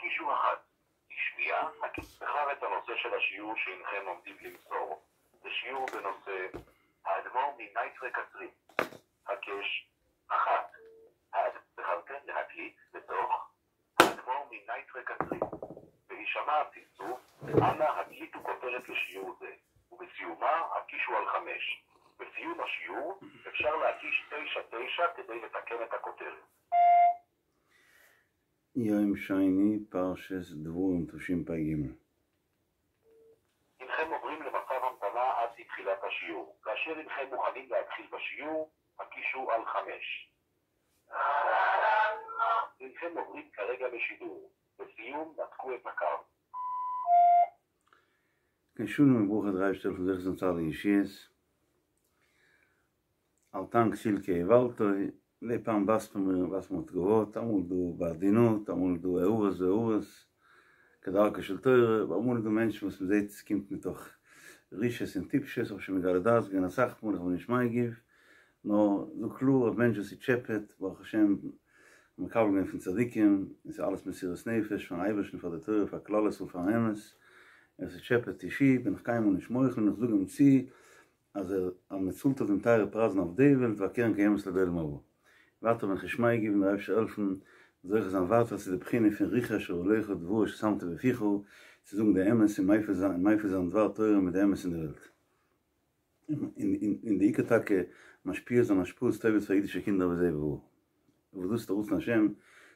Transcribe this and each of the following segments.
הקישו אחת, לשמיעה, בחר את הנושא של השיעור שהנכם עומדים למסור. זה שיעור בנושא האדמו"ר מנייטרא קצרין. הקש אחת. בחרתם להקליט לתוך האדמו"ר מנייטרא קצרין. בהישמע הצלצול, אנא הקליטו כותרת לשיעור זה, ובסיומה הקישו על חמש. בסיום השיעור אפשר להקיש תשע תשע כדי לתקן את הכותרת. יום שני פרשת דברים תשפ"ג. הנכם עוברים למצב המתנה עד לתחילת השיעור. כאשר הנכם מוכנים להתחיל בשיעור, הקישו על חמש. הנכם עוברים כרגע בשידור. לסיום, נתקו את הקו. כן, שלום וברכה דער אייבערשטער זאל העלפן זוכה זיין צו אלע ישועות. אל תען כסיל כי איוולתו, מדי פעם ווייזט מען מיר ווייזט מען תגובות, אמאל דא בעדינות, אמאל דא הערות והארות, כדרכה של תורה, אבער אמאל איז דא מענטשן וואס מען זעט עס קומט מתוך רשעות און טיפשות, האב שוין מגלה דעת געווען אסאך מאל, איך בין נישט מגיב, נאר זאג קלאר א מענטש וואס ס'טשעפעט, ברוך השם, מקבל געווען פון צדיקים, און ס'איז אלעס מסירות נפש פארן אייבערשטן פאר די תורה פאר כלל ישראל פארן אמת, און ס'טשעפעט אישי בין איך קיינמאל נישט מוחל און איך זאג אים צו אז ער אז מען צאלט אויף דעם טייערע פרייזן אויף די וועלט והקרן קיימת לעולם הבא. ווייטער בין איך נישט מגיב און דער אייבערשטער העלפן זוכה זיין ווייטער צו די בחינה פון רוחי אשר עליך דבר אשר שמתי בפיך, צו זאגן די אמת און מפיץ זיין מפיץ זיין דבר תורה מיט די אמת אין די וועלט. און די עיקר טאקע משפיע זיין השפעות טובות פאר אידישע קינדער וזה וואס דאס איז די רצון השם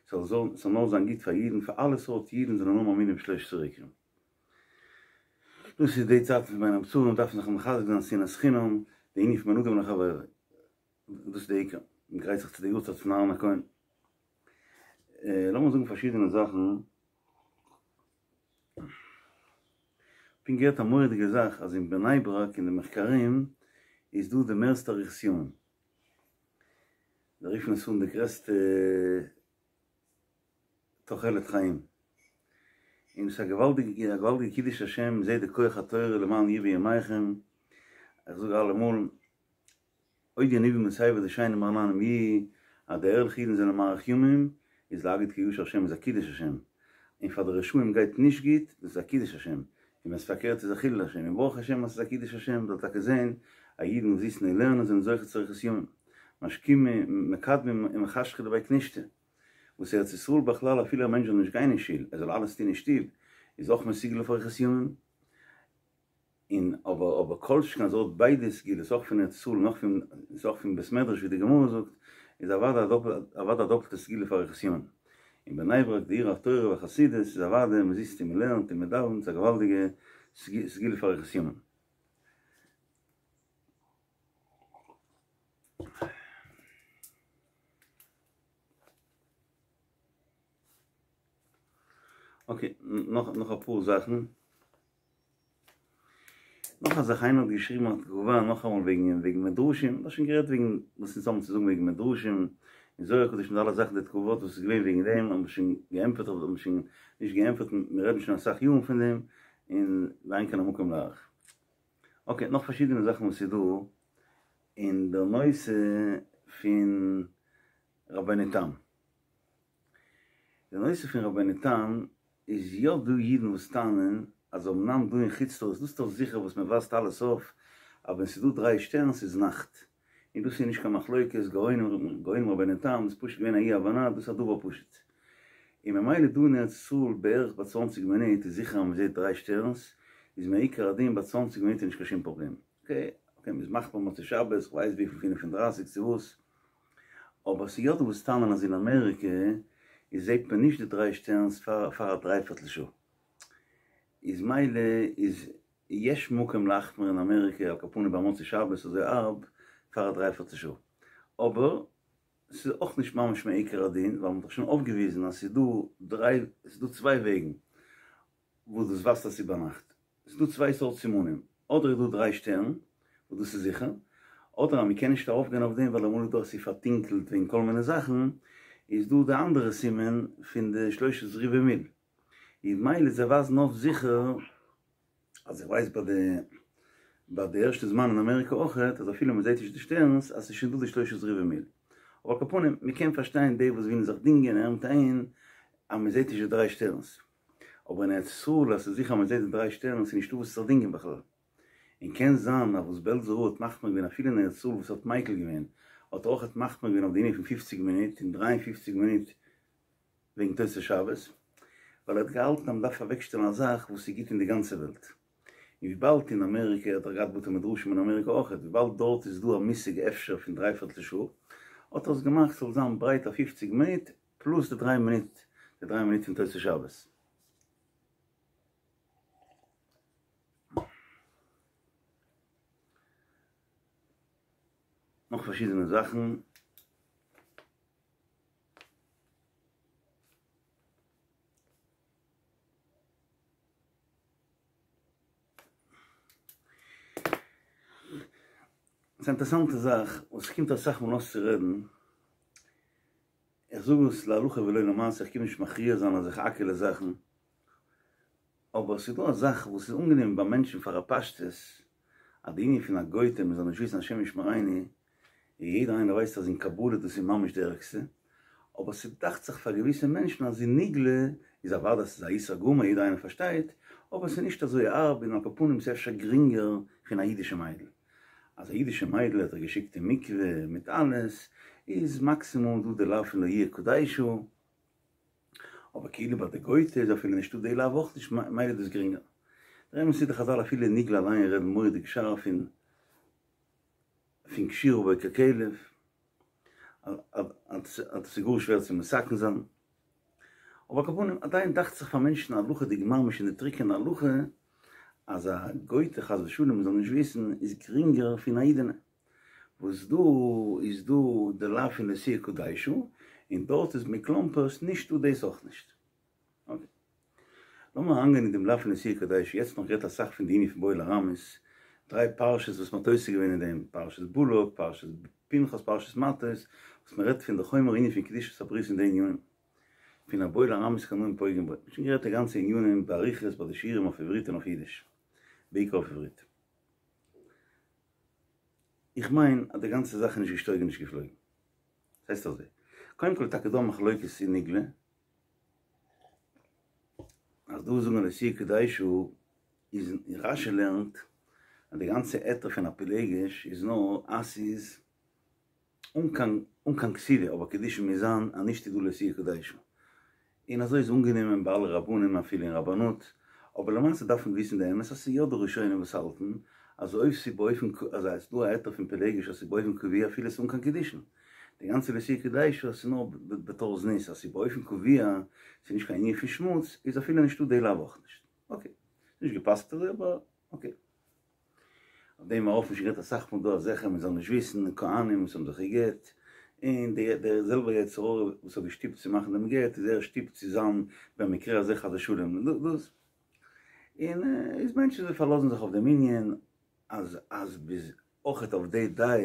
ס'זאל נאר זיין גוט פאר אידן פאר אלע סארט אידן זאלן נאר מאמינים בשלושת העיקרים. דאס איז די צייטן פון בין המצרים דארף מען זיך מחזק זיין שנאת חינם די ענין פון בין אדם לחבירו דאס איז די עיקר מען גרייט זיך צו די יארצייט פון אהרן הכהן. לאמיר זאגן פארשידענע זאכן. פונקט געהערט א מורא'דיגע זאך אז אין בני ברק אין די מחקרים איז דא די מערסטע אריכות ימים. זיי רופן עס אן די גרעסטע תוחלת חיים. און ס'איז א געוואלדיגע א געוואלדיגע קידוש השם, מ'זעט די כח התורה למען ירבו ימיכם, איך זאג אלעמאל, עוד ינובון בשיבה דשנים רעננים יהיו, אז די ערליכע אידן זענען מאריך ימים, איז להגיד כי ישיר השם איז א קידוש השם, און פאר די רשעים גייט נישט גוט, דאס איז א קידוש השם, און ווען עס פארקערט איז א חילול השם, און ברוך השם אז ס'איז א קידוש השם, זאל טאקע זען אז אידן וואס זיצן און לערנען זענען זוכה צו אריכות ימים, משכימי מקדמי ומחשכי לבי כנישתא, וואס ארץ ישראל בכלל אפילו א מענטש זאל נישט גיין אין שול, ער זאל אלעס טון אין שטוב, איז אויך מסוגל אויף אריכות ימים. און אבער אבער כל שכן אז ער האט ביידע סגולות אויך פון ארץ ישראל און אויך פון איז אויך פון בית מדרש ווי די גמרא זאגט איז אוודאי א דאפעלט אוודאי א דאפעלטע סגולה פאר אריכות ימים. אין בני ברק די עיר התורה והחסידות איז אוודאי מען זיצט און מען לערנט און מען דאווענט ס'איז א געוואלדיגע סגולה פאר אריכות ימים. אקעי, נאך נאך אפאר זאכן. נאך א זאך, איינער האט געשריבן א תגובה נאכאמאל וועגן וועגן מדרשים, מ'האט שוין גערעדט וועגן וואס אונז האבן צו זאגן וועגן מדרשים, און זוהר הקדוש מיט אלע זאכן די תגובות וואס איז געווען וועגן דעם האבן מיר שוין געענטפערט אדער האבן מיר שוין נישט געענטפערט, מיר רעדן שוין אסאך יארן פון דעם, און ואין כאן המקום להאריך. אקעי, נאך פארשידענע זאכן וואס איז דא אין די נושא פון רבינו תם. די נושא פון רבינו תם איז יא דא אידן וואס טענה'ן אז אמנם דא אין חוץ לארץ דאס איז דאך זיכער וואס מען ווייזט אלעס אויף אז ווען ס'איז דא דריי שטערנס איז נאכט און דאס איז נישט קיין מחלוקת גאונים גאונים רבינו תם דאס איז פשוט געווען א אי הבנה דאס איז א דבר פשוט און ממילא דא אין ארץ ישראל בערך ביי צוואנציג מינוט איז זיכער אז מען זעט דריי שטערנס איז מעיקר הדין ביי צוואנציג מינוט איז נישט קיין שום פראבלעם אקעי אקעי מ'איז מחמיר מוצאי שבת כ'ווייס וויפיל פינף און דרייסיג צו וואס. אבער ס'איז יא דא וואס טענה'ן אז אין אמעריקע איז זעהט מען נישט די דריי שטערנס פאר פאר א דריי פערטל שעה. איז מילא איז יש מקום להחמיר אין אמעריקע על כל פנים ביי מוצאי שבת אזוי הארב פאר א דריי פערטל שעה. אבער ס'איז אויך נישט ממש מעיקר הדין ווייל מ'האט דאך שוין אויפגעוויזן אז ס'איז דא דריי ס'איז דא צוויי וועגן. וואס דאס ווייזט אז ס'איז ביינאכט. ס'איז דא צוויי סארט סימנים, אדער איז דא דריי שטערן, וואס דאס איז זיכער, אדער אז מ'קען נישט ארויפגיין אויף דעם ווייל אמאל איז דא אז ס'איז פארטונקלט וועגן כל מיני זאכן, איז דא די אנדערע סימן פון די שלושת רבעי מיל. איז מילא זיי ווייזן אויף זיכער, אז איך ווייס ביי די ביי די ערשטע זמן אין אמעריקע אויכעט, אז אפילו מ'זעט נישט די שטערנס, אז ס'איז שוין דא די שלושת רבעי מיל. אבער על כל פנים, מ'קען פארשטיין די וואס ווילן זיך דינגען אהער מיט אהין. אז מען זעט נישט די דריי שטערנס, אבער אין ארץ ישראל אז ס'איז זיכער אז מען זעט די דריי שטערנס איז נישטא וואס צו דינגען בכלל. און קען זיין אז וואס בעלזער רב האט מחמיר געווען אפילו אין ארץ ישראל וואס ער האט מיקל געווען האט ער אויכעט מחמיר געווען אויף די ענין פון פופציג מינוט און 53 מינוט וועגן תוס' שבת, ווייל ער האט געהאלטן אז מען דארף אוועקשטעלן א זאך וואס איז גוט אין די גאנצע וועלט. און וויבאלד אין אמעריקע האט ער געהאט בתי מדרשים אין אמעריקע אויכעט, וויבאלד דארט איז דא א מושג אפשר פון דריי פערטל שעה, האט ער עס געמאכט ס'זאל זיין ברייט א פופציג מינוט פלאס די דריי מינוט, די דריי מינוט פון תוס' שבת. נאך פארשידענע זאכן. ס'איז א אינטערעסאנטע זאך וואס קומט אסאך מאל אויס צו רעדן, איך זאג עס להלכה ולא למעשה, איך קום נישט מכריע זיין אזעלכע האקעלע זאכן, אבער ס'איז דא א זאך וואס איז אנגענומען ביי מענטשן פאר א פשטות, אז די ענין פון א גוי'טע מ'זאל נישט וויסן השם ישמרינו, און יעדער איינער ווייסט אז אין קבלה דאס איז ממש די ערגסטע, אבער ס'דאכט זיך פאר געוויסע מענטשן אז אין נגלה איז אוודאי ס'איז א איסור גמור יעדער איינער פארשטייט, אבער ס'איז נישט אזוי הארב און על כל פנים ס'איז אפשר גרינגער פון א אידישע מיידל. אז א אידישע מיידל האט ער געשיקט אין מקווה מיט אלעס, איז מאקסימום דא די לאו פון לא יהיה קדשה, אבער כאילו ביי די גויטע איז אפילו נישטא די לאו אויך נישט מילא איז דאס גרינגער. דער אמת איז די חזל אפילו אין נגלה אליין רעדן מורא'דיג שארף פון פון קשירה בו ככלב, אז עס איז גאר שווער צו מתקן זיין. אבער על כל פנים עדיין דאכט זיך פאר מענטשן הלכה'דיג ממש אין די טרוקענע הלכה אז א גויטע חס ושלום מ'זאל נישט וויסן איז גרינגער פון א אידענע. וואס דא איז דא די לאו פון לא תהיה קדשה, און דארט איז מכלומפערשט נישט דא דאס אויך נישט. אקעי. לאמיר אריינגיין אין דעם לאו פון לא תהיה קדשה, יעצט נאך גערעדט אסאך פון די ענין פון בועל ארמית, דריי פרשות וואס מ'האט עוסק געווען אין דעם, פרשת בלק, פרשת פנחס, פרשת מטות, וואס מ'רעדט פון די חומר ענין פון קדושת הברית און די ענינים פון הבועל ארמית קנאים פוגעים בו. מ'האט שוין גערעדט די גאנצע ענינים באריכות ביי די שיעורים אויף עברית און אויף אידיש, בעיקר אויף עברית. איך מיין אז די גאנצע זאך איז נישט געשטויגן נישט געפלויגן. ס'הייסט אזוי, קודם כל איז טאקע דא א מחלוקת אין נגלה, אז דא זאגן לא תהיה קדשה איז רשי לערנט אז די גאנצע היתר פון א פילגש איז נאר אז ס'איז אן קיין אן קיין כתובה אבער קידושין מוז זיין אז נישט איז דא לא תהיה קדשה און אזוי איז אנגענומען ביי אלע רבנים אפילו אין רבנות אבער למעשה דארף מען וויסן די אמת אז ס'איז יא דא ראשונים וואס האלטן אז אויב ס'איז באופן אז ס'איז דא א היתר פון פילגש אז ס'איז באופן קבוע אפילו ס'איז אן קיין קידושין די גאנצע לא תהיה קדשה אז ס'איז נאר בתור זנות אז ס'איז באופן קבוע ס'איז נישט קיין ענין פון שמוץ איז אפילו נישטא די לאו אויך נישט אקעי נישט געפסק'ט אזוי אבער אקעי. אויף דעם ארויף שוין גערעדט אסאך מאל דא אז זיכער מען זאל נישט וויסן, כהנים וואס האבן זיך גע'גט, און די דער זעלבער יצר הרע וואס האט געשטופט צו מאכן דעם גט איז ער שטופט צו זיין במקרה הזה חס ושלום דאס, און איז מענטשן זיי פארלאזן זיך אויף דעם ענין אז אז ביז אויכעט אויף די דעה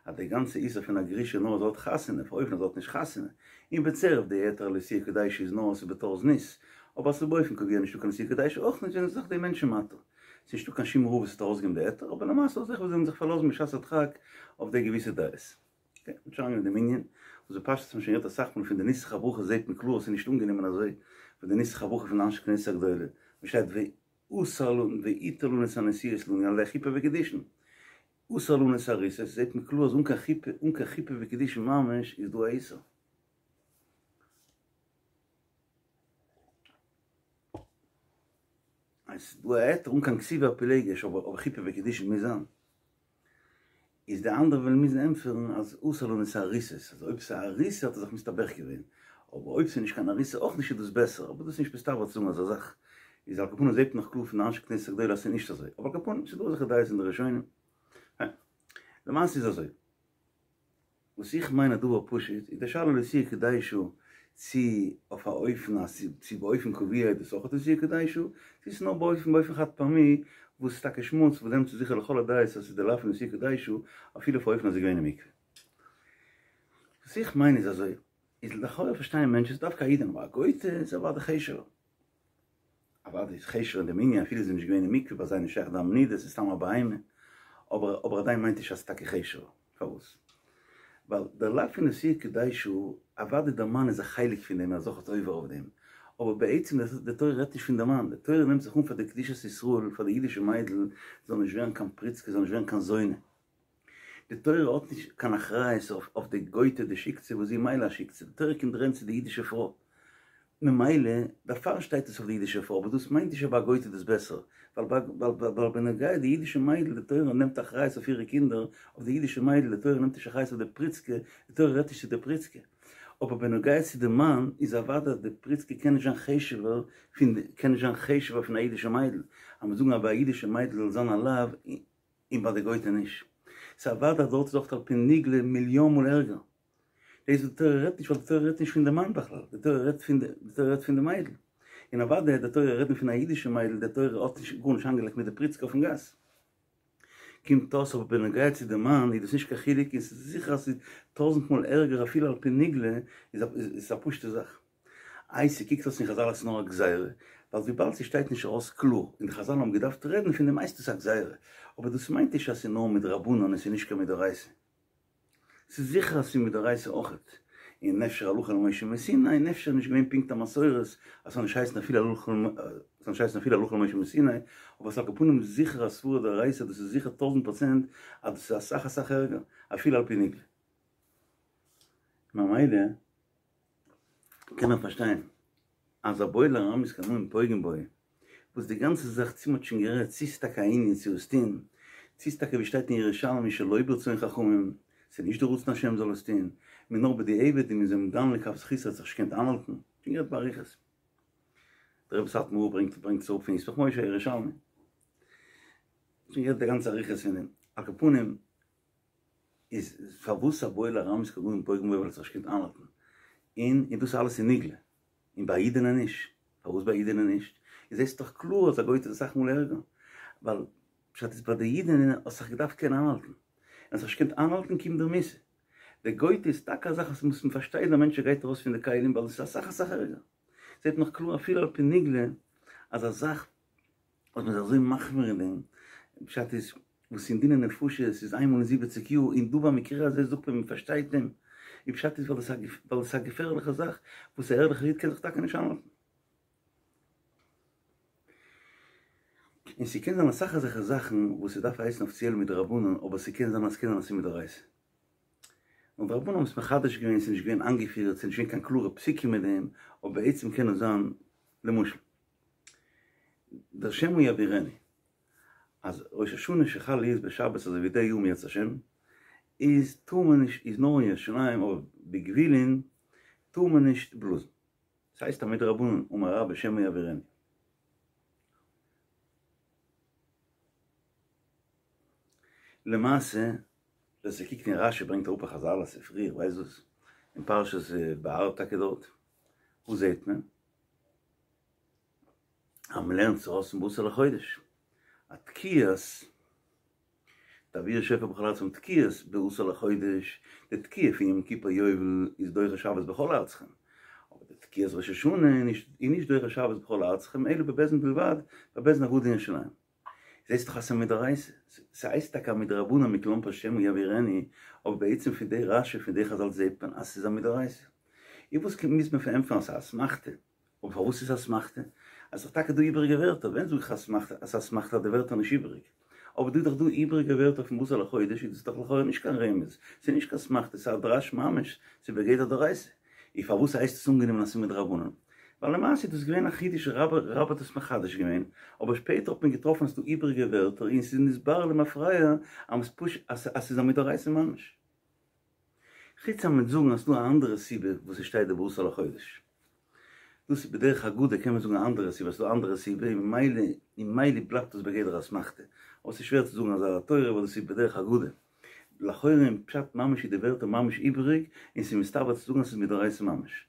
אז די גאנצע איסור פון א גרושה נאר אז זי האט חתונה, אויף אופן אז זי האט נישט חתונה, און בצירוף די היתר לא תהיה קדשה איז נאר אז ס'איז בתור זנות, אבער אז ס'איז באופן קבוע נישטא קיין לא תהיה קדשה אויך נישט זענען זיך די מענטשן מתיר. ס'איז נישטא קיין שום רב וואס האט ארויסגעגעבן די היתר, אבער למעשה אזעלכע וואס זענען זיך פארלאזן בשעת הדחק אויף די געוויסע דעות. אקעי, מ'וועט שוין אריינגיין אין דעם ענין, וואס בפשטות האט מען שוין גערעדט אסאך מאל פון די נוסח הברכה זעהט מען קלאר אז ס'איז נישט אנגענומען אזוי פון די נוסח הברכה פון די אנשי כנסת הגדולה, וואס שטייט ועשה לנו ועיטר לנו את הנשואות לנו על ידי חופה וקידושין. עשר לנו את הארוסות, זעהט מען קלאר אז אן קיין חופה, אן קיין חופה וקידושין ממש איז דא א איסור. עס איז דא א היתר אן קיין כתובה א פילגש אבער חופה וקידושין מוז זיין. איז די אנדערע וועלן מוזן ענטפערן אז עשר לנו את הארוסות, אז אויב ס'איז א ארוסה האט ער זיך מסתבך געווען, אבער אויב ס'איז נישט קיין ארוסה אויך נישט איז דאס בעסער, אבער דאס איז נישט מסתבר צו זאגן אזא זאך, איז על כל פנים זעט מען נאך קלאר פון די אנשי כנסת הגדולה אז ס'איז נישט אזוי, אבער על כל פנים ס'איז דא אזעלכע דעות אין די ראשונים. למעשה איז אזוי. וואס איך מיין א דבר פשוט איז די שאלה לא תהיה קדשה צו אויף א אופן אז צו באופן קבוע איז דאס אויך לא תהיה קדשה, צו ס'איז נאר באופן באופן חד פעמי וואס איז טאקע שמוץ וואס דעמאלטס איז זיכער לכל הדעות אז ס'איז די לאו פון לא תהיה קדשה אפילו אויף א אופן אז ס'איז געווען אין מקווה. וואס איך מיין איז אזוי, איז לכאורה פארשטייען מענטשן ס'איז דווקא א אידענע אבער א גוי'טע איז אוודאי חשוב'ער. אוודאי איז חשוב'ער אין דעם ענין אפילו זי איז נישט געווען אין מקווה ביי זיי נישט שייך דם נידה ס'איז סתם א בהמה אבער אבער עדיין מיינט נישט אז ס'איז טאקע חשוב'ער פארוואס ווייל דער לאו פון לא תהיה קדשה אוודאי דער מאן איז א חלק פון דעם ער איז אויכעט עובר אויף דעם. אבער בעצם די תורה רעדט נישט פון די מאן, די תורה נעמט זיך אן פאר די קדושת ישראל, פאר די אידישע מיידל זאל נישט ווערן קיין פריצקע, זאל נישט ווערן קיין זונה. די תורה האט נישט קיין אחריות אויף די גויטע די שיקצע וואס זי מילא א שיקצע, די תורה קומט רעדן צו די אידישע פרוי, ממילא דערפאר שטייט עס אויף די אידישע פרוי, אבער דאס מיינט נישט אז ביי א גויטע איז דאס בעסער, ווייל בנוגע די אידישע מיידל די תורה נעמט אחריות אויף אירע קינדער, אויף די אידישע מיידל די תורה נעמט נישט אחריות אויף די פריצקע, די תורה רעדט נישט צו די פריצקע. אבער בנוגע צו די מאן איז אוודאי אז די פריצקע קען נישט זיין חשוב'ער פון קען נישט זיין חשוב'ער פון א אידישע מיידל, אז מיר זאגן אז ביי א אידישע מיידל זאל זיין א לאו און ביי די גויטע נישט. ס'איז אוודאי אז דארט איז אויך על פי נגלה מיליאן מאל ערגער. דאס וואס די תורה רעדט נישט ווייל די תורה רעדט נישט פון די מאן בכלל, די תורה רעדט פון די תורה רעדט פון די מיידל. און אוודאי די תורה רעדט פון א אידישע מיידל, די תורה האט נישט גארנישט איינגעלייגט מיט די פריצקע אויפן גאס. קומט אויס אבער בנוגע צו די מאן איז דאס נישט קיין חילוק און ס'איז זיכער אז ס'איז טויזענט מאל ערגער אפילו על פי נגלה איז עס א פשוטע זאך. איי ס'קוקט אויס אין חזל אז ס'איז נאר א גזירה, ווייל וויבאלד ס'שטייט נישט ארויס קלאר און די חזל האבן געדארפט רעדן פון דעם הייסט עס א גזירה, אבער דאס מיינט נישט אז ס'איז נאר מדרבנן און ס'איז נישט קיין מדאורייתא. ס'איז זיכער אז ס'איז מדאורייתא אויכעט, און אפשר הלכה למשה מסיני, און אפשר נישט געווען פונקט א מסורת אז ס'זאל נישט הייסן אפילו הלכה ס'זאל נישט הייסן אפילו הלכה למשה מסיני, אבער ס'איז על כל פנים זיכער א סברא דאורייתא, דאס איז זיכער טויזענט פראצענט אז דאס איז אסאך אסאך ערגער, אפילו על פי נגלה. ממילא קען מען פארשטיין אז הבועל ארמית קנאים פוגעים בו, וואס די גאנצע זאך צו מ'האט שוין גערעדט צו ס'איז טאקע א ענין צו עס טון, צו ס'איז טאקע ווי שטייט אין ירושלמי שלא ברצון חכמים, ס'איז נישט די רצון השם זאל עס טון, מ'איז נאר בדיעבד און מ'איז אים דן לכף זכות ער האט זיך נישט געקענט איינהאלטן, שוין גערעדט באריכות. דער רבי סאטמאר רב ברענגט ברענגט עס אראפ פון ישמח משה ירושלמי. שוין גערעדט די גאנצע אריכות פון דעם. על כל פנים איז פארוואס הבועל ארמית קנאים פוגעים בו ווייל ער האט זיך נישט געקענט איינהאלטן, און און דאס אלעס איז נגלה. און ביי א אידענע נישט. פארוואס ביי א אידענע נישט? איז זעסט דאך קלאר אז א גויטע איז אסאך מאל ערגער. ווייל פשט איז ביי די אידענע האסט זיך געדארפט קענען איינהאלטן. און האסט זיך נישט געקענט איינהאלטן קומט דיר מיתה. די גויטע איז טאקע א זאך וואס מ'מוז פארשטיין דער מענטש גייט ארויס פון די כלים ווייל עס איז אסאך אסאך ערגער. זעט נאך קלאר אפילו על פי נגלה אז א זאך וואס מ'איז אזוי מחמיר אין דעם, פשט איז וואס אין דיני נפשות איז איינמאל אין זיבעציג יאר, און דא במקרה הזה זאגט מען מ'פארשטייט אים, און פשט איז ווייל עס איז א געפערליכע זאך וואס א ערליכער איד קען זיך טאקע נישט איינהאלטן. און ס'קען זיין אסאך אזעלכע זאכן וואס ס'דארף הייסן אפיציעל מדרבנן אבער ס'קען זיין אז ס'קען זיין אז ס'איז מדאורייתא. און די רבנן האבן עס מחדש געווען, ס'איז נישט געווען איינגעפירט, ס'איז נישט געווען קיין קלארע פסוקים מיט דעם, אבער בעצם קען עס זיין למשל. דער שמא יעבירנו, אז ראש השנה שחל להיות בשבת אזוי ווי די יאר אם ירצה השם, איז טאר מען נישט, איז נאר אין ירושלים אבער בגבולין טאר מען נישט בלאזן. ס'הייסט א מדרבנן אמר רבה שמא יעבירנו. למעשה ווער ס'קוקט אין רשי ברענגט אראפ א חזל א ספרי איך ווייס וואס אין פרשת בהר טאקע דארט, וואס זעהט מען? אז מ'לערנט עס ארויס פון בעשור לחודש, א תקיעת תעבירו שופר בכל ארצכם תקיעות בעשור לחודש, די תקיעה פון יום כיפור יובל איז דוחה שבת בכל ארצכם, אבער די תקיעת ראש השנה איז נישט דוחה שבת בכל ארצכם אלא בבית דין בלבד, בבית דין הגדול אין ירושלים. זעסט דאך אז ס'איז מדאורייתא, ס'הייסט טאקע א מדרבנן מכלומרשט שמא יעבירנו, אבער בעצם פון די רשי פון די חזל זעט מען אז ס'איז א מדאורייתא. איז וואס מוז מען פארענטפערן אז ס'איז א אסמכתא? אבער פארוואס איז אסמכתא? אז ס'איז טאקע דא איבעריגע ווערטער, ווען זאג איך אסמכתא אז ס'איז אסמכתא אז די ווערטער נישט איבעריג? אבער דא איז דאך דא איבעריגע ווערטער פון בעשור לחודש איז דאס דאך לכאורה נישט קיין רמז, ס'איז נישט קיין אסמכתא, ס'איז א דרש ממש, ס'איז בגדר דאורייתא. איז פארוואס הייסט עס אנגענומען אז ס'איז מדרבנן? ווייל למעשה איז דאס געווען א חידוש רבה רבה האט עס מחדש געווען, אבער שפעטער האט מען געטראפן אז ס'איז דא איבעריגע ווערטער און ס'איז נתברר למפרע אז ס'איז א מדאורייתא ממש. חוץ אז מ'וועט זאגן אז ס'דא א אנדערע סיבה וואס עס שטייט די בעשור לחודש. דאס איז בדרך אגדה קען מען זאגן א אנדערע סיבה, ס'דא א אנדערע סיבה און ממילא און ממילא בלייבט עס בגדר אסמכתא. אבער ס'איז שווער צו זאגן אזא תורה ווייל דאס איז בדרך אגדה. לכאורה אין פשט ממש איז די ווערטער ממש איבעריג און ס'איז מסתבר צו זאגן אז ס'איז מדאורייתא ממש.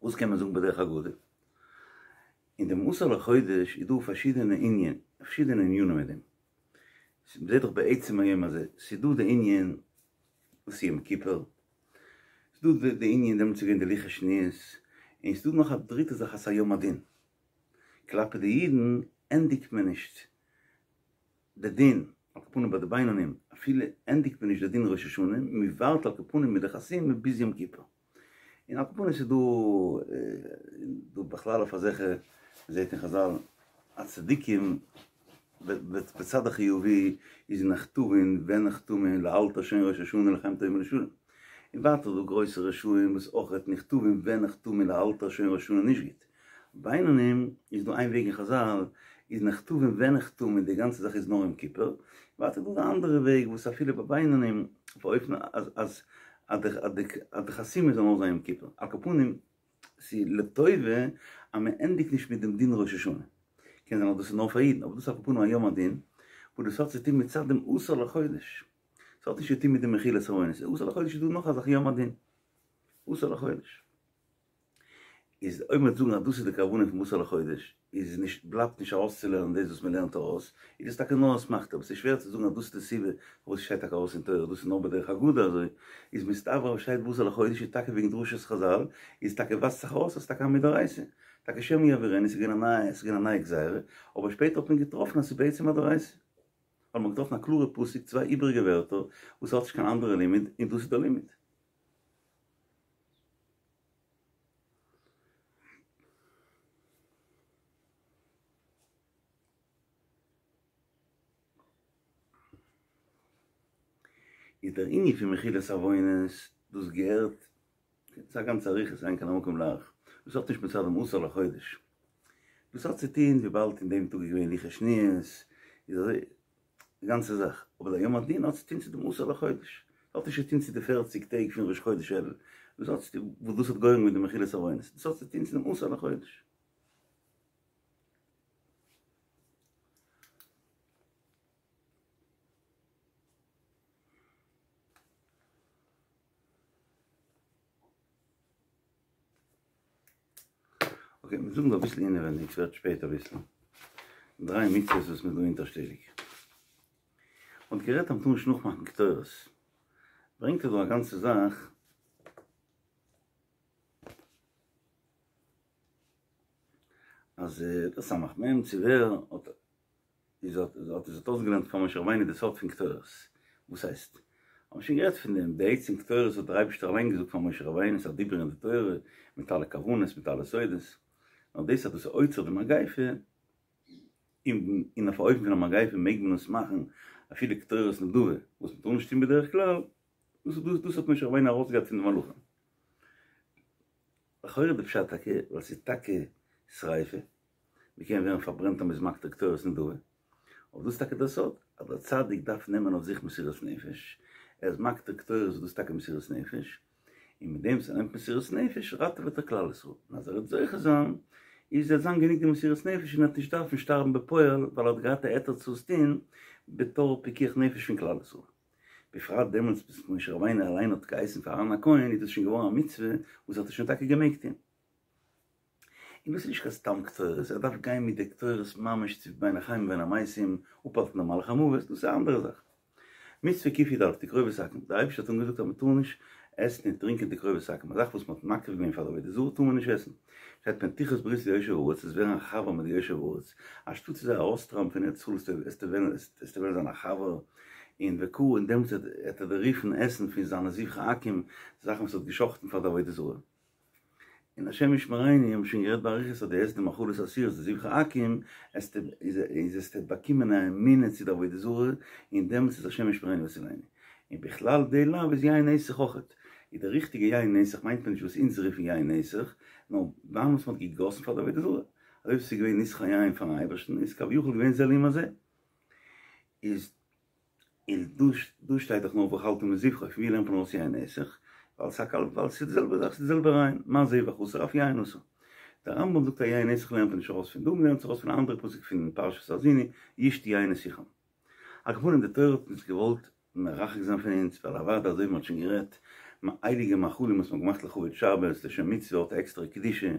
וואס קען מען זאגן בדרך אגדה? אין דעם עשור לחודש איז דא פארשידענע ענין, פארשידענע ענינים מיט דעם. מ'זעט דאך בעצם היום הזה, ס'איז דא די ענין וואס איז יום כיפור, ס'איז דא די ענין דעמאלטס איז געווען די לוחות שניות, און ס'איז דא נאך א דריטע זאך אז ס'איז א יום הדין. כלפי די אידן ענדיגט מען נישט די דין, על כל פנים ביי די בינונים, אפילו ענדיגט מען נישט די דין ראש השנה, מ'ווארט על כל פנים מיט די חתימה ביז יום כיפור. און על כל פנים ס'איז דא דא בכלל אויף אזעלכע מ'זעט אין חזל אז צדיקים בצד החיובי איז נכתבין ונחתמין לאלתר שוין ראש השנה לחיים טובים ולשלום. און ווייטער דא גרויסע רשעים וואס אויכעט נכתבין ונחתמין לאלתר שוין ראש השנה נישט גוט. בינונים איז דא איין וועג אין חזל איז נכתבין ונחתמין די גאנצע זאך איז נאר יום כיפור. ווייטער דא די אנדערע וועג וואס אפילו ביי בינונים אויף אן אופן אז אז די חתימה זאל נאר זיין יום כיפור. על כל פנים ס'איז לטובה אז מען ענדיגט נישט מיט דעם דין ראש השנה. קען זיין אז דאס איז נאר פאר אידן, אבער דאס איז על כל פנים א יום הדין, וואס דאס האט צו טון מצד דעם עשור לחודש. ס'האט נישט צו טון מיט די מחילת עוונות. עשור לחודש איז דא נאך א זאך יום הדין. עשור לחודש. איז אויב מ'וועט זאגן אז דאס איז די כוונה פון עשור לחודש, איז נישט, בלייבט נישט ארויסצולערנען דאס וואס מ'לערנט ארויס, איז דאס טאקע נאר אסמכתא, אבער ס'איז שווער צו זאגן אז דאס איז די סיבה פארוואס ס'שטייט טאקע ארויס אין תורה, דאס איז נאר בדרך אגדה אזוי, איז מסתבר אז שטייט בעשור לחודש איז טאקע וועגן דרשת חזל, איז טאקע ווייזט זיך ארויס אז ס'טאקע א מדאורייתא, טאקע שמא יעבירנו, ס'איז געווען א נייע, ס'איז געווען א נייע גזירה, אבער שפעטער האט מען געטראפן אז ס'איז בעצם א דאורייתא. ווייל מ'האט געטראפן א קלארע פסוק, צוויי איבעריגע ווערטער, וואס האט נישט קיין אנדערע לימוד, און דאס איז דער לימוד. איז דער ענין פון מחילת עוונות, דאס געהערט ס'איז א גאנצע אריכות אין כאן המקום להאריך, דאס האט נישט מצד דעם עשור לחודש, דאס האט צו טוהן וויבאלד אין דעם טאג איז געווען לוחות שניות, איז אזוי די גאנצע זאך, אבער דער יום הדין האט צו טוהן צו דעם עשור לחודש, האט נישט צו טוהן צו די פערציג טעג פון ראש חודש אלול, דאס האט צו טוהן וואס דאס האט גורם געווען די מחילת עוונות, דאס האט צו טוהן צו דעם עשור לחודש. אקעי, מיר זאגן דא אביסל אינעווענדיג, ס'ווערט שפעט אביסל. דריי מצוות וואס מ'איז דא אונטערשטעליג. מ'האט גערעדט אז מ'טאר נישט נאכמאכן קטורת. ברענגט ער דא א גאנצע זאך. אז דער סמך מם צו ווער האט איז האט האט איז האט אויסגעלערנט פאר משה רבינו די סוד פון קטורת. וואס הייסט? האבן שוין גערעדט פון דעם, די עצם קטורת האט דער אייבערשטער אליין געזאגט פאר משה רבינו, ס'איז א דיבור אין די תורה, מיט אלע כוונות, מיט אלע סודות. נאר דאס אז דאס איז עוצר די מגיפה, און און אויף א אופן פון א מגיפה מעג מען עס מאכן אפילו קטורת נדבה, וואס מ'טאר נישט טון בדרך כלל, דאס דאס דאס האט משה רבינו ארויסגעהאט פון די מלאכים. לכאורה די פשט טאקע, ווייל ס'איז טאקע שריפה, מ'קען ווערן פארברענט אז מ'איז מקטיר קטורת נדבה, אבער דאס איז טאקע דער סוד, אז דער צדיק דארף נעמען אויף זיך מסירות נפש, ער איז מקטיר קטורת דאס איז טאקע מסירות נפש, און מיט דעם וואס ער נעמט מסירות נפש ראטעוועט ער כלל ישראל, און אז ער וועט זוכה זיין, איז וועט זיין גענוג די מסירות נפש און ער וועט נישט דארפן שטארבן בפועל, ווייל ער האט געהאט א היתר צו עס טון בתור פיקוח נפש פון כלל ישראל. בפרט דעמאלטס וואס משה רבינו אליין האט געהייסן פאר אהרן הכהן איז דאס שוין געווארן א מצוה וואס האט ער שוין טאקע געמעגט טון. און דאס איז נישט קיין סתם קטורת, ער דארף גיין מיט די קטורת ממש צו בין החיים ובין המתים, אפהאלטן דעם מלאך המוות, דאס איז א אנדערע זאך. מצוה קי"א, תקרובת עכו"ם, דער אייבערשטער האט אנגעזאגט אז מען טאר נישט עסן און טרינקען תקרובת עכו"ם, א זאך וואס מען האט מקריב געווען פאר די עבודה זרה טאר מען נישט עסן. שטייט פן תכרות ברית ליושב הארץ, וועסט ווערן א חבר מיט די יושב הארץ, אנשטאט צו זיי ארויסטרייבן פון ארץ ישראל וועסטו וועלן זיין א חבר, און וכו', און דעמאלטס וועט ער דיר רופן עסן פון זיינע זבחי עכו"ם, זאכן וואס ער האט גע'שחט'ן פאר די עבודה זרה. און השם ישמרינו, האבן שוין גערעדט באריכות אז דו עסט די מאכלות אסורות די זבחי עכו"ם, עסטו איז עסטו באקומען א אמונה צו די עבודה זרה, און דעמאלטס איז השם ישמרינו ויצילנו. און בכלל די לאו איז יין נסך אויכעט. איז די ריכטיגע יין נסך מיינט מען נישט וואס אונז רופן יין נסך, נאר וויין וואס מען האט געגאסן פאר די עבודה זרה. אזוי ווי ס'איז געווען נסך היין פארן אייבערשטן איז כביכול געווען זה לעומת זה. איז און דא דא שטייט דאך נאר ואכלת מזבחו, פון ווי לערנט מען ארויס יין נסך? ווייל ס'איז א קל ווייל ס'איז די זעלבע זאך ס'איז די זעלבע רעיון, מה זבח אסור אף יין אסור. דער רמב"ם זאגט אז יין נסך לערנט מען נישט ארויס פון דא, מ'לערנט עס ארויס פון א אנדערע פסוק פון פרשת האזיני, ישתו יין נסכם. על כל פנים די תורה האט אונז געוואלט מרחק זיין פון אונז, ווייל אוודאי אזוי ווי מ'האט שוין גערעדט, הייליגע מאכלים וואס מ'האט געמאכט לכבוד שבת, לשם מצוה האט א עקסטערע קדושה,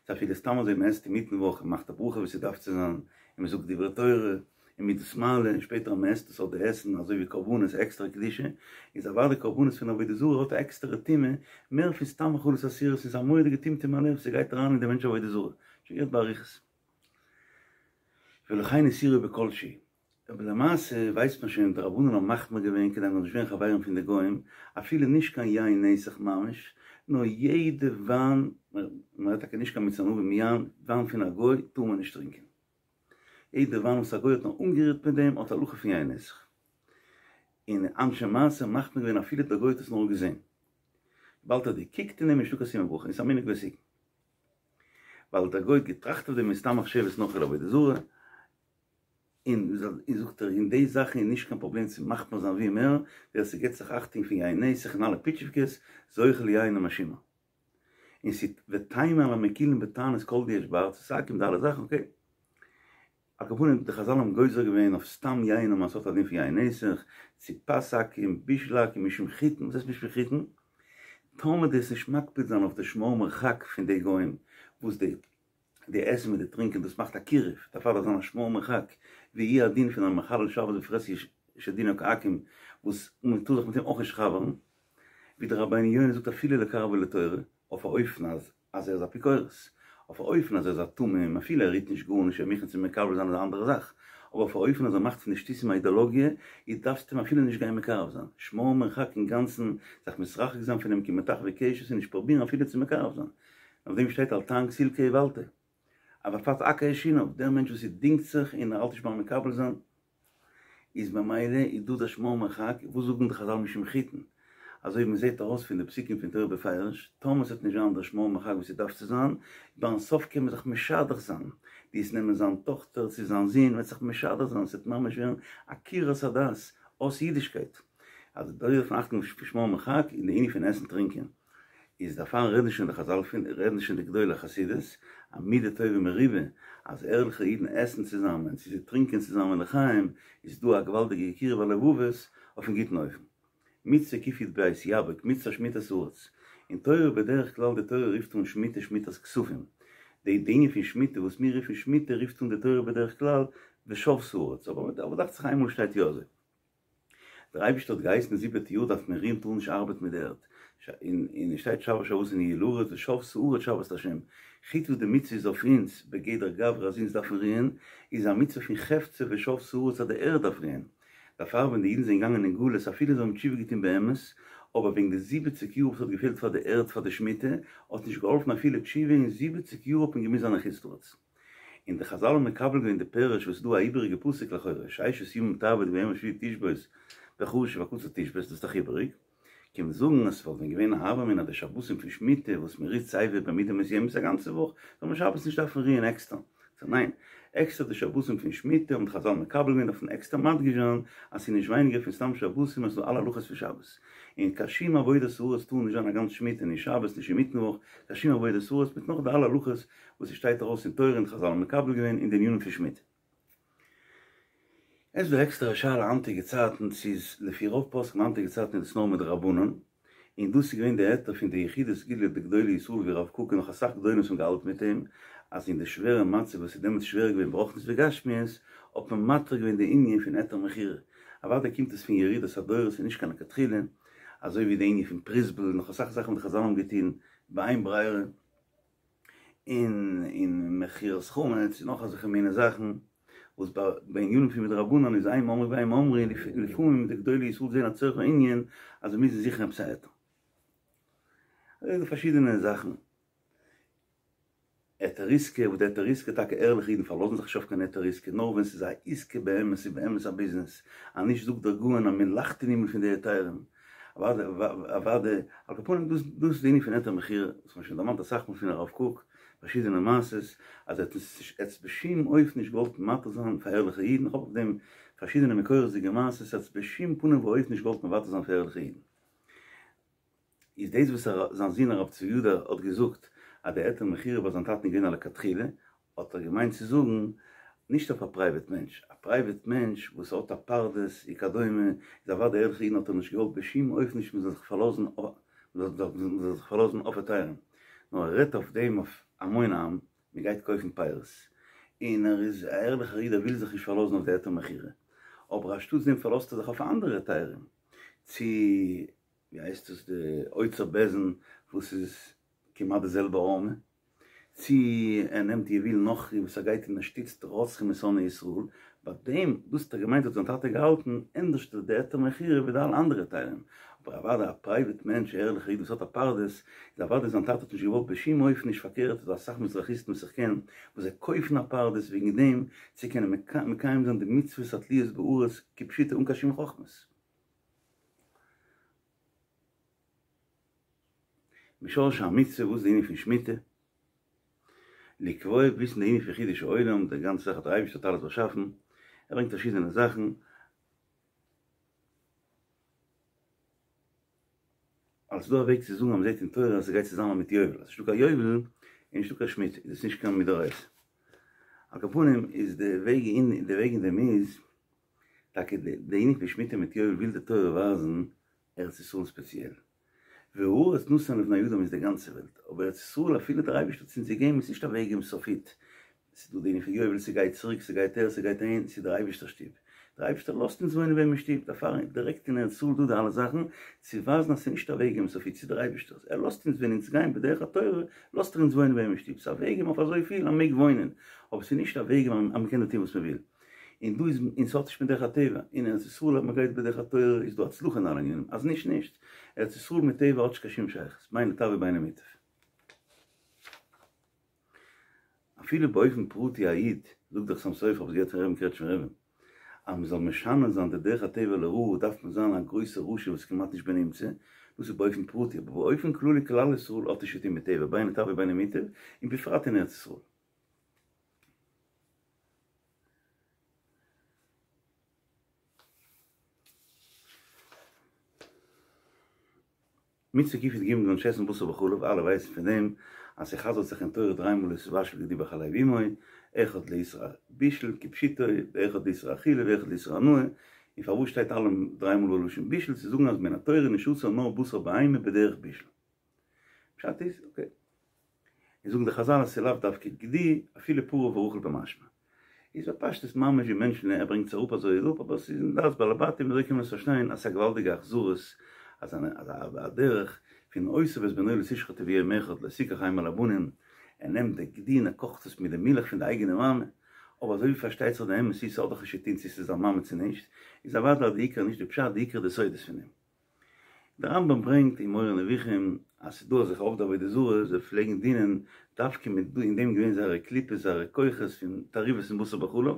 ס'איז אפילו סתם אזוי מ'עסט אינמיטן וואך און מ'מאכט א ברכה ווי ס'דארף צו זיין, און מ'זאגט דברי תורה, און מ'איז דאס מעלה, און שפעטער אז מ'עסט עס האט די עסן אזוי ווי קרבנות עקסטערע קדושה, איז אוודאי קרבנות פון עבודה זרה האט א עקסטערע טומאה, מער פון סתם מאכלות אסורות, ס'איז א מורא'דיגע טמטום הלב, ס'גייט אריין אין די מענטש עבודה זרה. שוין גערעדט באריכות. ולכן איסורו בכל שהוא. אבער למעשה ווייסט מען שוין, די רבנן האבן מחמיר געווען כדי מ'זאל נישט ווערן חברים פון די גוים, אפילו נישט קיין יין נסך ממש, נאר יעדע וויין, מען רעדט טאקע נישט קיין מיץ ענבים יין, וויין פון א גוי טאר מען נישט טרינקען. יעדע וויין וואס א גוי האט נאר אנגערירט מיט דעם האט הלכה פון יין נסך. און אנשי מעשה מחמיר געווען אפילו דער גוי האט עס נאר געזען. וויבאלד ער האט געקוקט אין דעם איז נישטא קיין סימן ברכה און ס'איז א מנהג ותיקין. ווייל דער גוי האט געטראכט אויף דעם איז סתם מחשבת נכרי לעבודה זרה. און זאגט ער אין די זאכן איז נישט קיין פראבלעם צו מחמיר זיין ווי מער, ווער ס'געט זיך אכטונג פון יין נסך און אלע פיטשיווקעס, זוכה ליין המשומר. און ס'איז ותימה על המקילין בתענית כל דיש בארצות עכו"ם די אלע זאכן אקעי. על כל פנים די חזל האבן גוזר געווען אויף סתם יין אז ס'האט א דין פון יין נסך, צו פת עכו"ם, בישול עכו"ם, משום חיטין, וואס הייסט משום חיטין? טאמער דו וועסט נישט מקפיד זיין אויף די שמור מרחק פון די גוים וואס די די עסן מיט די טרינקען דאס מאכט א קירוב, דערפאר דארף זיין א שמור מרחק, והוא הדין פון א מחלל שבת בפרהסיא שדינו כעכו"ם וואס מען טאר זיך מיט אים אויך נישט חבר'ן, ווי דער רבינו יונה זאגט אפילו לקרבו לתורה, אויף א אופן אז אז ער איז אפיקורס, אויף א אופן אז ער איז א תמים, אפילו ער רירט נישט גארנישט ער מוכן צו מקבל זיין איז א אנדערע זאך, אבער אויף א אופן אז ער מאכט פון די שטותים א אידאלאגיע, איז דארפסטו אים אפילו נישט גיין מקרב זיין, שמור מרחק אינגאנצן, זיך מתרחק זיין פון אים כמטחווי קשת און נישט פרובירן אפילו צו מקרב זיין. אויף דעם שטייט אל תען כסיל כאולתו. אבל פת עכו שיניו, דער מענטש וואס ער דינגט זיך און ער האלט נישט ביים מקבל זיין, איז ממילא איז דא דער שמור מרחק, וואס זאגן די חזל משום חיטין, אזוי ווי מען זעט ארויס פון די פסוקים פון תורה בפירוש, טאמער ס'וועט נישט זיין דער שמור מרחק וואס ס'דארף צו זיין, ביים סוף קען מען זיך משדך זיין, דו וועסט נעמען זיין טאכטער צו זיין זון, מ'וועט זיך משדך זיין, ס'וועט ממש ווערן עקירת הדת, אויס אידישקייט. אז דא דארף מען אכטונג פון שמור מרחק אין די ענין פון עסן טרינקען. איז דערפאר רעדן שוין די חזל פון, רעדן שוין די גדולי החסידות, א מידה טובה מרובה, אז ערליכע אידן עסן צוזאמען, צו זיי טרינקען צוזאמען לחיים, איז דא א געוואלדיגע קירוב הלבבות אויפן גוטן אופן. מצוה קי"ב יבק, מצוה שמיטת הארץ. אין תורה בדרך כלל די תורה רופט אן שמיטה שמיטת כספים. די די ענין פון שמיטה וואס מיר רופן שמיטה רופט אן די תורה בדרך כלל ושבתה הארץ, אבער דאכט זיך איינמאל שטייט יא אזוי. דער אייבערשטער האט געהייסן די זיבעטע יאר דארף מען רוען טאר נישט ארבעטן מיט די ערד, און עס שטייט שבת שבתון יהיה לארץ ושבתה הארץ שבת לה', חוץ וואס די מצוה איז אויף אונז בגדר גברא אז אונז דארפן רוען, איז א מצוה פון חפצא ושבתה הארץ אז די ערד דארף רוען, דערפאר ווען די אידן זענען געגאנגען אין גלות אפילו זיי האבן תשובה געטון באמת, אבער וועגן די זיבעציג יאר וואס האט געפעלט פאר די ערד פאר די שמיטה, האט נישט געהאלפן אפילו תשובה און זיבעציג יאר האט מען געמוזט זיין אין חוץ לארץ. און די חזל האבן מקבל געווען די פירוש וואס איז דא א איבעריגע פסוק לכאורה, ששת ימים תעבוד וביום השביעי תשבות וחשוב והקציר תשבות, דאס איז דאך איבעריג, קען מען זאגן אז ס'וואלט ווען געווען א הוה אמינא אז די שבתים פון שמיטה וואס מען רוט סייווי במידה מסוימת א גאנצע וואך, זאל מען שבת נישט דארפן רוען עקסטער. סא ניין, עקסטער די שבתים פון שמיטה האבן די חזל מקבל געווען דארף מען עקסטער מדגיש זיין אז ס'איז נישט ווייניגער פון סתם שבתים אז ס'איז דא אלע הלכות פון שבת. און קיין שום עבודת הארץ טאר נישט זיין א גאנץ שמיטה נישט שבת נישט אינמיטן וואך, קיין שום עבודת הארץ מיט נאך די אלע הלכות וואס עס שטייט ארויס אין תורה און חזל האבן מקבל געווען אין די ענינים פון שמיטה. עס איז דא עקסטערע שאלה היינטיגע צייטן צו איז לפי רוב פוסקים היינטיגע צייטן איז עס נאר מדרבנן, און דאס איז געווען די היתר פון די יחידי סגולה די גדולי ישראל ווי רב קוק און נאך אסאך גדולים וואס האבן געהאלטן מיט אים, אז אין די שווערע מצב וואס איז דעמאלטס שווער געווען ברוחניות וגשמיות האט מען מתיר געווען די ענין פון היתר מכירה, אוודאי קומט עס פון ירידת הדורות און נישט קיין לכתחילה, אזוי ווי די ענין פון פרוזבול און נאך אסאך זאכן וואס די חזל האבן געטון באין ברירה. און און מכירת חמץ און נאך אזעלכע מיני זאכן וואס ביי ביי ענינים פון מדרבנן איז אין אמרו ואין אמרו לפעמים די גדולי ישראל זעהן א צורך הענין אז זיי מוזן זוכן עפעס א היתר. אזוי איז דא פארשידענע זאכן. היתר עסקה וואס די היתר עסקה טאקע ערליכע אידן פארלאזן זיך נישט אויף קיין היתר עסקה נאר ווען ס'איז א עסקה באמת ס'איז באמת א ביזנעס אז נישט זאגט דער גאון אז מען לאכט אין הימל פון די היתרים. אוואדע אוואדע, על כל פנים דאס דאס איז די ענין פון היתר מכירה, וואס מ'האט שוין דערמאנט אסאך מאל פון הרב קוק, פארשידענע מעשות, אז ער האט עס ער האט עס בשום אופן נישט געוואלט מתיר זיין פאר ערליכע אידן, איך האב אויף דעם פארשידענע מקורות'דיגע מעשות, ער האט עס בשום פנים ואופן נישט געוואלט מוותר זיין פאר ערליכע אידן. איז דאס וואס זיין זון הרב צבי יהודה האט געזאגט אז די היתר מכירה ביי זיין טאטן איז געווען א לכתחילה, האט ער געמיינט צו זאגן, נישט אויף א פרייוועט מענטש, א פרייוועט מענטש וואס האט א פרדס וכדומה, איז אוודאי ערליכע אידן האט ער נישט געוואלט בשום אופן נישט מען זאל זיך פארלאזן מען זאל זיך פארלאזן אויף היתרים, נאר ער רעדט אויף דעם אויף המון עם, מען גייט קויפן פירות, און ער איז א ערליכער איד ער וויל זיך נישט פארלאזן אויף די היתר מכירה, אבער אנשטאטס דעם פארלאזט ער זיך אויף אנדערע היתרים, צו ווי הייסט עס די אוצר בית דין וואס איז כמעט די זעלבע ערמה. צי ער נעמט יבול נכרי וואס ער גייט און ער שטיצט רוצחים און שונאי ישראל, ביי דעם, דאס האט ער געמיינט האט זיין טאטע געהאלטן, ענדערש די היתר מכירה ווי די אלע אנדערע היתרים, אבער אוודאי א פרייוועט מענטש א ערליכע איד וואס האט א פרדס, איז אוודאי זיין טאטע האט נישט געוואלט בשום אופן נישט פארקערט איז דא אסאך מזרחיסטן וואס איך קען וואס זיי קויפן א פרדס וועגן דעם צו קענען מקיים זיין די מצוות התלויות בארץ כפשוטו אן קיין שום חכמות. משרשי המצוה וואס איז די ענין פון שמיטה? לקבוע וויסן די ענין פון חידוש העולם, די גאנצע זאך האט דער אייבערשטער האט אלעס באשאפן, ער ברענגט פארשידענע זאכן, אלס דא א וועג צו זאגן אז מ'זעט אין תורה אז ס'גייט צוזאמען מיט יובל, אז ס'נישטא קיין יובל איז נישטא קיין שמיטה, איז עס נישט קיין מדאורייתא. על כל פנים איז די וועג אין די וועג אין דעם איז, טאקע די ענין פון שמיטה מיט יובל וויל די תורה ווייזן ארץ ישראל ספעציעל. והארץ נתן לבני אדם איז די גאנצע וועלט, אבער ארץ ישראל אפילו דער אייבערשטער האט אונז געגעבן איז נישט אוועקגעגעבן סופית, ס'איז דא די ענין פון יובל ס'גייט צוריק ס'גייט אהער ס'גייט אהין, ס'איז דער אייבערשטער'ס שטוב, דער אייבערשטער לאזט אונז וואוינען ביי אים אין שטוב, דערפאר דירעקט אין ארץ ישראל דא די אלע זאכן, צו ווייזן אז ס'איז נישט אוועקגעגעבן סופית ס'איז דער אייבערשטער'ס, ער לאזט אונז ווען אונז גייען בדרך התורה לאזט ער אונז וואוינען ביי אים אין שטוב, ס'איז אוועקגעגעבן אויף אזויפיל אז מ'מעג וואוינען, אבער ס'איז נישט אוועקגעגעבן אז מ'קען דא טון וואס מ'וויל. און דא איז און ס'האט נישט מיט דרך הטבע, אין ארץ ישראל אז מ'גייט בדרך התורה איז דא הצלחה אין אלע ענינים, אז נישט נישט, ארץ ישראל מיט טבע האט נישט קיין שום שייכות, בין לטב ובין למוטב. אפילו באופן פרטי א איד, זאגט דער חתם סופר, האב עס געהערט פון רבי'ן קרעטשמער רבי'ן, אז מ'זאל משנה זיין די דרך הטבע לרעה דארף מען זיין א גרויסע רשע וואס איז כמעט נישט בנמצא, דאס איז באופן פרטי, אבער באופן כללי כלל ישראל האט נישט צוטון מיט טבע, בין לטב ובין למוטב, און בפרט אין ארץ ישראל. מצוה קי"ג מ'זאל נישט עסן בשר בחלב, אלע ווייסן פון דעם אז ס'חזר'ט זיך אין תורה דריי מאל לא תבשל גדי בחלב אמו, אחד לאיסור בישול כפשוטו, ואחד לאיסור אכילה ואחד לאיסור הנאה, און פארוואס שטייט אלע דריי מאל בלשון בישול, צו זאגן אז מן התורה נישט אסור נאר בשר בהמה בדרך בישול. פשט איז, אקעי. און זאגן די חזל אז ס'איז לאו דווקא גדי, אפילו פרה ורחל במשמע. איז בפשטות ממש ווי מענטשן ער ברענגט עס אראפ אזוי אראפ אבער ס'איז אין דעת בעלי בתים אזוי קען מען עס פארשטיין אז ס'איז א געוואלדיגע אכזריות אז א דרך פון אותו ואת בנו לא תשחטו ביום אחד לא תקח האם על הבנים ער נעמט די גדי און ער קאכט עס מיט די מילך פון די אייגענע מאמע אבער אזוי ווי פארשטייט זיך די אמת איז ס'האט דאך נישט צו טון צו ס'איז זיין מאמע צו נישט איז אוודאי אז די עיקר איז נישט די פשט די עיקר איז די סודות פון דעם. דער רמב"ם ברענגט אין מורה נבוכים אז ס'איז דא אזעלכע עובדי עבודה זרה, זיי פלעגן דינען דווקא מיט אין דעם געווען זייערע קליפות זייערע כוחות פון תערובות און בשר בחלב,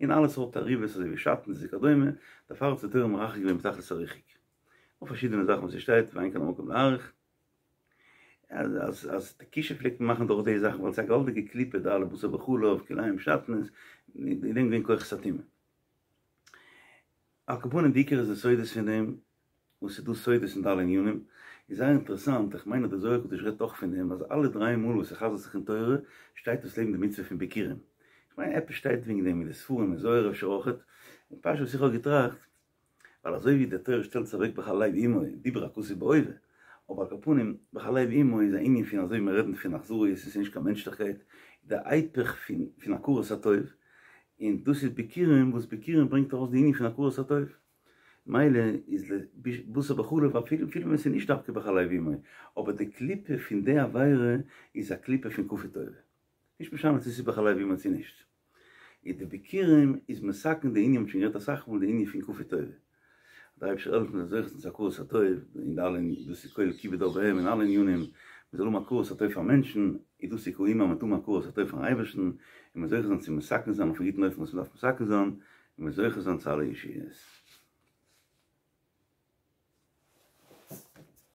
און אלע סארט תערובות אזוי ווי שעטנז וכדומה, דערפאר האט די תורה מרחק געווען בתכלית הריחוק. נאך פארשידענע זאכן וואס ס'שטייט ואין כאן המקום להאריך. אז אז אז די כישוף פלעגט מען מאכן דורך די זאכן ווייל ס'איז א געוואלדיגע קליפה די אלע בשר בחלב, כלאיים שעטנז, אין דעם געווען כוחות הטומאה. על כל פנים די עיקר איז די סודות פון דעם, וואס ס'איז דא סודות אין די אלע ענינים, איז זייער אינטערעסאנט, איך מיין אז די זוהר הקדוש רעדט אויך פון דעם, אז אלע דריי מאל וואס ס'חזר'ט זיך אין תורה, שטייט דאס לעבן די מצוה פון ביכורים. איך מיין עפעס שטייט וועגן דעם אין די ספרים אין זוהר אפשר אויכעט, און פשט וואס איך האב געטראכט, ווייל אזוי ווי די תורה שטעלט עס אוועק בחלב אמו, דיבר הכתוב בהווה, אבער על כל פנים, בחלב אמו איז א ענין פון אזוי ווי מיר רעדן פון אכזריות און ס'איז נישט קיין מענטשליכקייט, די היפך פון פון הכרת הטוב, און דאס איז ביכורים וואס ביכורים ברענגט ארויס די ענין פון הכרת הטוב, מילא איז בשר בחלב אפילו אפילו ווען ס'איז נישט דווקא בחלב אמו, אבער די קליפה פון די עבירה איז א קליפה פון כפוי טובה, נישט משנה צו ס'איז בחלב אמו צו נישט, איז די ביכורים איז מתקן די ענין, מ'האט שוין גערעדט אסאך מאל די ענין פון כפוי טובה. דער אייבערשטער זאל העלפן מ'זאל זוכה זיין צו הכרת הטוב אין די אלע דאס איז כולל כיבוד אב ואם אין אלע ענינים, מען זאל האבן הכרת הטוב פאר מענטשן, איז דאס איז כאילו מ'האט הכרת הטוב פארן אייבערשטן, און מען זוכה זיין צו מתקן זיין אויפן גוטן אופן וואס מען דארף מתקן זיין, און מען זוכה זיין צו אלע ישועות.